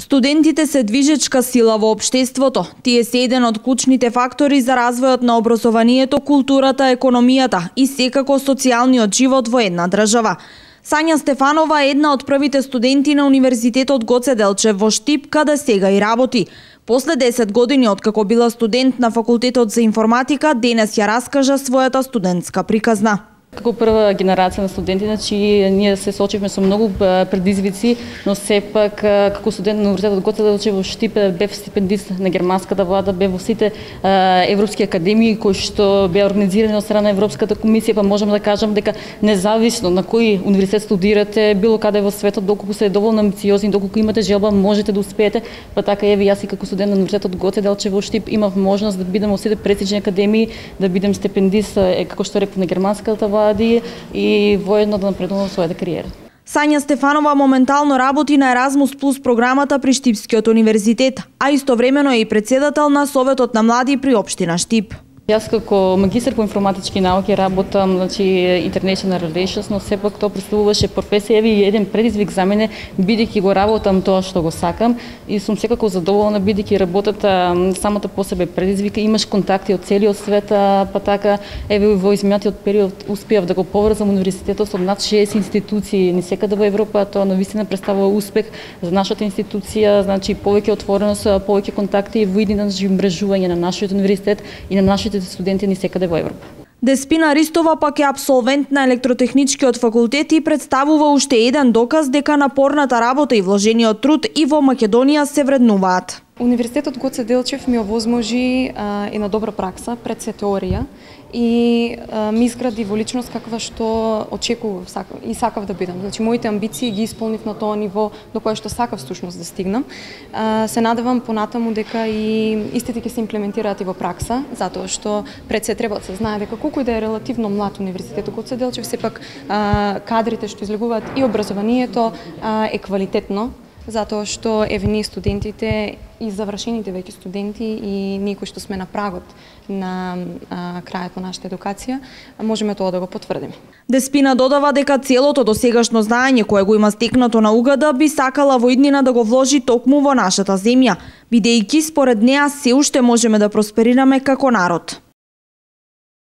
Студентите се движечка сила во општеството. Тие се еден од клучните фактори за развојот на образованието, културата, економијата и секако социјалниот живот во една држава. Сања Стефанова е една од првите студенти на Универзитетот Гоце Делчев во Штип, каде сега и работи. После 10 години откако била студент на Факултетот за информатика, денес ја раскажа својата студентска приказна. Како прва генерација на студенти, значи ние се соочивме со многу предизвици, но сепак како студент на Универзитетот Гоце Делчев во Штип бев стипендист на германската влада, бев во сите европски академии кои што беа организирани од страна на Европската комисија, па можам да кажам дека независно на кој универзитет студирате, било каде во светот, доколку се доволно амбициозни, доколку имате желба, можете да успеете. Па така еве јас и како студент на Универзитетот Гоце Делчев во Штип имав можност да бидам во сите престижни академии, да бидам стипендист, како што реков, на германската влада и воедно да напредувам во својата кариера. Сања Стефанова моментално работи на Еразмус Плюс програмата при Штипскиот универзитет, а истовремено е и председател на Советот на млади при општина Штип. Јас како магистар по информатички науки работам, значи International Relations, но сепак тоа представуваше професија и еден предизвик за мене, бидејќи го работам тоа што го сакам и сум секако задоволна бидејќи работата самата по себе предизвика, имаш контакти од целиот свет, па така еве во изминатиот период успеав да го поврзам универзитетот со над 60 институции низ во Европа, тоа навистина представува успех за нашата институција, значи повеќе отвореност, повеќе контакти во идеја мрежување на нашиот универзитет и на нашите студенти ни секаде во Европа. Деспина Ристова пак е абсолвент на електротехничкиот факултет и представува уште еден доказ дека напорната работа и вложениот труд и во Македонија се вреднуваат. Универзитетот Гоце Делчев ми овозможи една добра пракса пред се теорија и ми изгради во личност каква што очекував и сакав да бидам. Значи моите амбиции ги исполнив на тоа ниво до кое што сакав всушност да стигнам. Се надевам понатаму дека и истите ќе се имплементираат и во пракса, затоа што пред се треба да се знае дека колку и да е релативно млад Универзитетот Гоце Делчев, сепак кадрите што излегуваат и образованието е квалитетно, затоа што еве ние студентите и завршените веќе студенти и ние кои што сме на прагот на крајот на нашата едукација, можеме тоа да го потврдиме. Деспина додава дека целото досегашно знаење кое го има стекнато на УГД би сакала во иднина да го вложи токму во нашата земја, бидејќи според неа се уште можеме да просперираме како народ.